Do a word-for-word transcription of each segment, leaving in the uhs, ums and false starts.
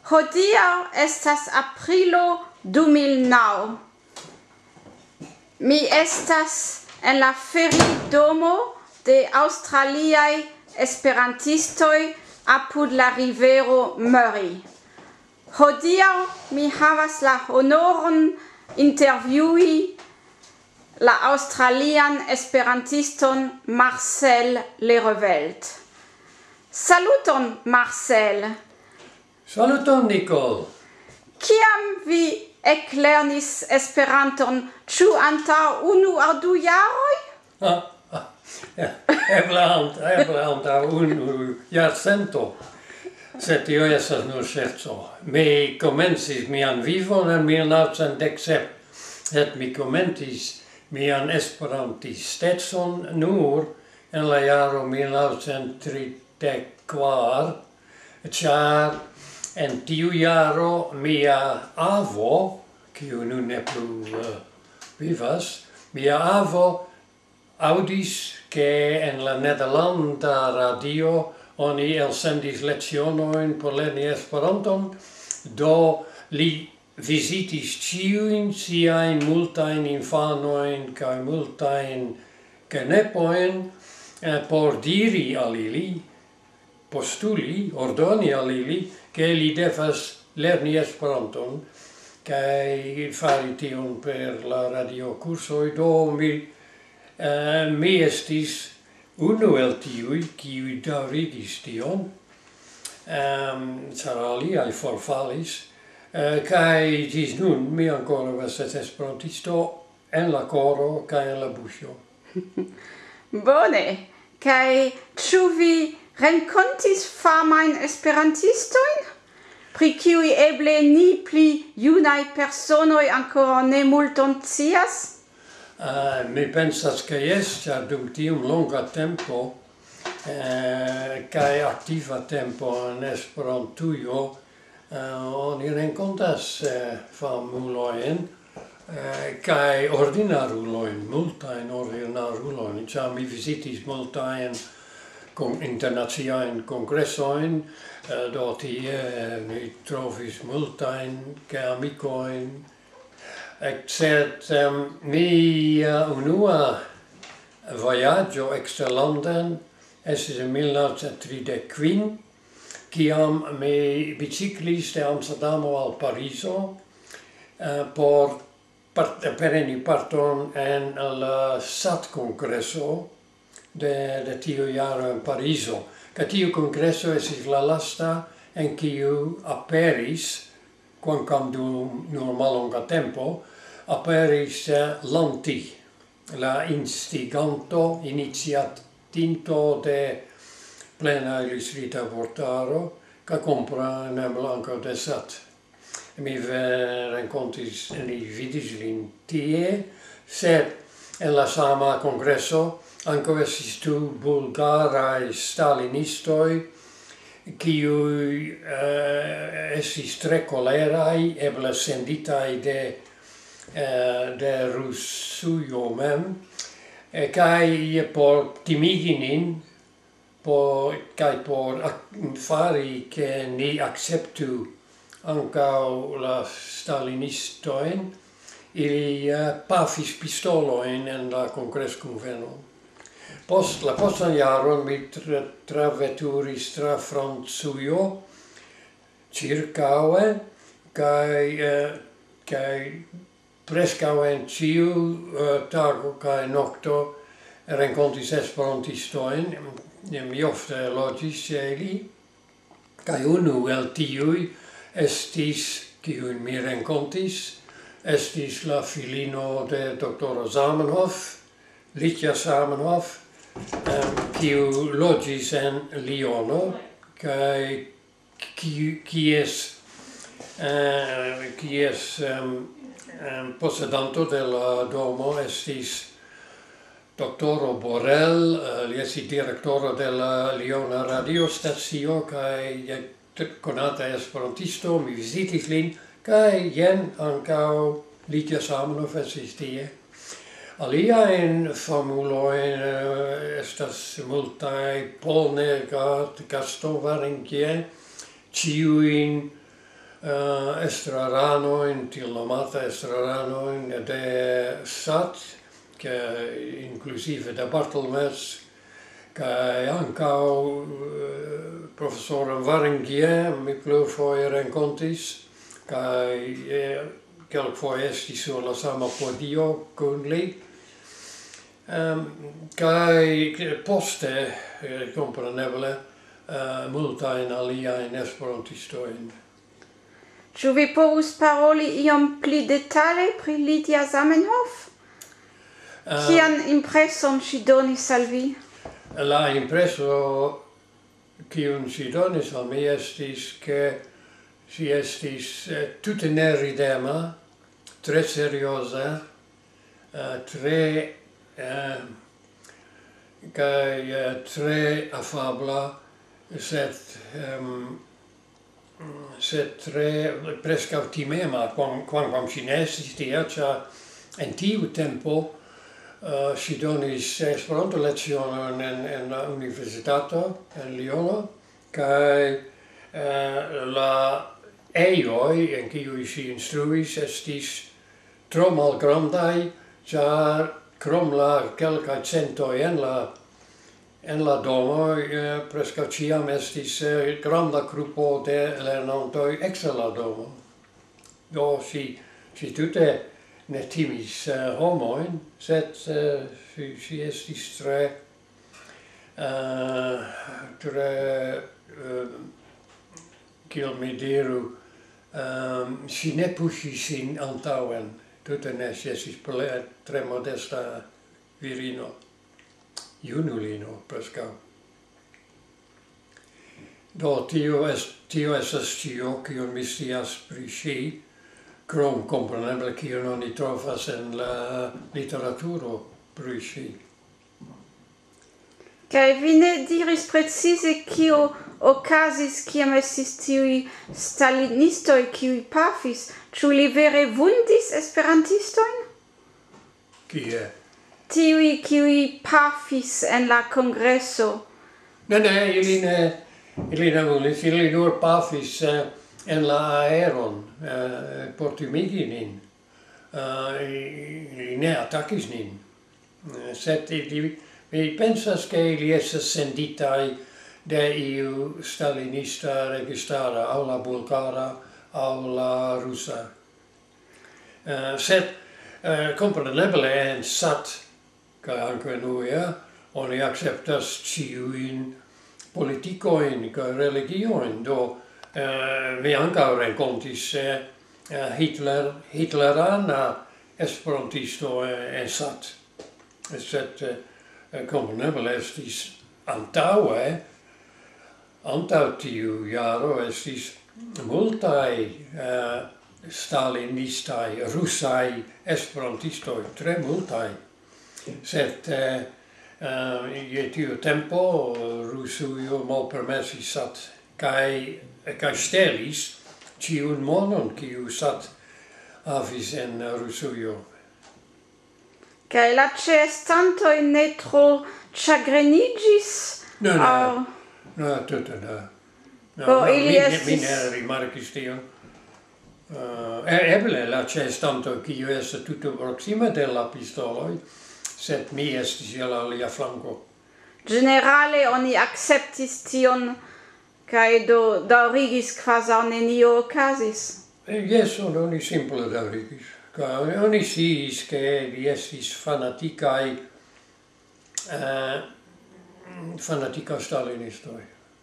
Hodiaŭ estas aprilo du mil naŭ. Mi estas en la feridomo de aŭstraliaj esperantistoj apud la rivero Murray. Hodiaŭ mi havas la honoron intervjui la aŭstralian esperantiston Marcel Lerevelt. Saluton, Marcel! Saluton, Nicole! Kiam vi eklernis Esperanton, ĉu antaŭ unu aŭ du jaroj? Ah, ah, ja, eble ant-, eble antaŭ unu jarcento, sed tio estas nur ŝerco. Mi komencis mian vivon en mil naŭcent dek sep, sed mi komencis mian esperantistecon nur en la jaro mil naŭcent tridek kvar, ĉar en tiu jaro mia avo, kiu nun ne plu, eh, vivas, mia avo aŭdis, ke en la nederlanda radio oni elsendis lecionojn por lerni Esperanton, do li vizitis ĉiujn siajn multajn infanojn kaj multajn genepojn, eh, por diri al ili, postuli, ordoni al ili, ke li devas lerni Esperanton kaj fari tion per la radiokursoj. Do mi, eh, mi estis unu el tiuj, kiuj daŭrigis tion, ehm, ĉar aliaj forfalis, eh, kaj ĝis nun mi ankoraŭ estas esperantisto en la koro kaj en la buŝo. Bone, kaj ĉu vi renkontis famajn esperantistojn, pri kiuj eble ni pli junaj personoj ankoraŭ ne multon scias? Eh, mi pensas, ke jes, ĉar dum tiom longa tempo, eh, kaj aktiva tempo en Esperantujo, eh, oni renkontas, eh, famulojn, eh, kaj ordinarulojn, multajn ordinarulojn, ĉar mi vizitis multajn kon-, internaciajn kongresojn, eh, do tie, eh, mi trovis multajn geamikojn, sed, em, mia unua vojaĝo eksterlanden estis en mil naŭcent tridek kvin, kiam mi biciklis de Amsterdamo al Parizo, eh, por part-, preni parton en la sat-kongreso de, de tiu jaro en Parizo. Kaj tiu kongreso estis la lasta en kiu aperis, kvankam dum nur mallonga tempo, aperis, eh, Lanti, la instiganto, iniciatinto de Plena Illustrita Vortaro, kaj kompreneble ankaŭ de sat. Mi ve-, renkontis, ni vidis lin tie, sed en la sama kongreso ankaŭ estis du bulgaraj stalinistoj, kiuj, eh, estis tre koleraj, eble senditaj de, eh, de Rusujo mem, eh, kaj por timigi nin, por, kaj por ak-, fari, ke ni akceptu ankaŭ la stalinistojn, ili, eh, pafis pistolojn en la kongreskunveno. Post la postan jaron mi tra-, traveturis tra Francujo ĉirkaŭe, kaj, eh, kaj preskaŭ en ĉiu, eh, tago kaj nokto renkontis esperantistojn. Mi ofte loĝis ĉe ili, kaj unu el tiuj estis, kiujn mi renkontis, estis la filino de doktoro Zamenhof, Licia Zamenhof, em, kiu loĝis en Liono, kaj ki-, kies, eh, kies, em, em, posedanto de la domo estis doktoro Borel, eh, li estis direktoro de la Liona radiostacio kaj, eh, t-, konata esperantisto, mi vizitis lin, kaj jen ankaŭ Licia Zamenhof estis tie. Aliajn famulojn, eh, estas multaj, Paul Neergaard, Gaston Varengier, ĉiujn, eh, estraranojn, tiel nomata estraranojn de sat, ke inkluzive de Barthelmess, kaj ankaŭ, eh, profesoron Varengier mi plurfoje renkontis, kaj, eh, kelkfoje estis sur la sama podio kun li. Ehm, kaj poste, eh, kompreneble, eh, multajn aliajn esperantistojn. Ĉu vi povus paroli iom pli detale pri Lydia Zamenhof? Ehm, Kian impreson ŝi donis al vi? La impreso, kiun ŝi donis al mi, estis, ke ŝi estis, eh, tute neridema, tre serioza, eh, tre, eh, kaj, eh, tre afabla, sed, ehm, sed tre preskaŭ timema, kvam-, kvankam ŝi ne estis tia, ĉar en tiu tempo, eh, ŝi donis Esperanto-lecionojn en, en la universitato en Liono, kaj, eh, la ejoj, en kiuj ŝi instruis, estis tro malgrandaj, ĉar krom la kelkaj centoj en la, en la domo, eh, preskaŭ ĉiam estis, eh, granda grupo de lernantoj ekster la domo. Do ŝi, ŝi tute ne timis, eh, homojn, sed, eh, ŝi, ŝi estis tre, eh, tre, eh, kiel mi diru, ehm, ŝi ne puŝis sin antaŭen, tute ne, ŝi estis ple-, tre modesta virino, junulino preskaŭ. Do, tio es-, tio estas ĉio, kion mi scias pri ŝi, krom kompreneble, kion oni trovas en la literaturo pri ŝi. Kaj vi ne diris precize, kio okazis, kiam estis tiuj stalinistoj, kiuj pafis. Ĉu li vere vundis esperantistojn? Kie? Tiuj, kiuj pafis en la kongreso. Ne, ne, ili ne, ili ne volis, ili nur pafis, eh, en la aeron, eh, por timigi nin. Eh, ili ne atakis nin. Eh, sed ili, mi pensas, ke ili estas senditaj de iu stalinista registara, aŭ la bulgara, aŭ la rusa. Eh, sed, eh, kompreneble en sat, kaj ankaŭ en U E A, oni akceptas ĉiujn politikojn kaj religiojn. Do, eh, mi ankaŭ renkontis, eh, eh, Hitler, hitlerana esperantisto, eh, en sat. Sed, eh, kompreneble estis antaŭe, antaŭ tiu jaro estis multaj, eh, stalinistaj, rusaj esperantistoj, tre multaj. Sed, eh, eh, je tiu tempo Rusujo malpermesis sat kaj, kaj ŝtelis ĉiun monon, kiu sat havis en Rusujo. Kaj la ĉeestantoj ne tro ĉagreniĝis? Ne, ne. Aŭ ne, tute ne. No, Ho, no, ili mi, mi, mi estis ne rimarkis tion. Eh, e-, eble la ĉeestanto, kiu estas tute proksime de la pistoloj, sed mi estis je la alia flanko. Ĝenerale oni akceptis tion, kaj do daŭrigis, kvazaŭ nenio okazis. Eh, jes, on-, oni simple daŭrigis. Kaj oni sciis, ke li estis fanatikaj, eh, fanatikaj stalinistoj,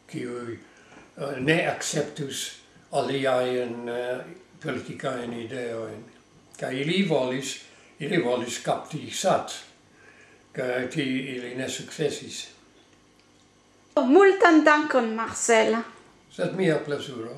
kiuj, eh, ne akceptus aliajn, eh, politikajn ideojn. Kaj ili volis, ili volis kapti sat, kaj ti-, ili ne sukcesis. Multan dankon, Marcel. Sed mia plezuro.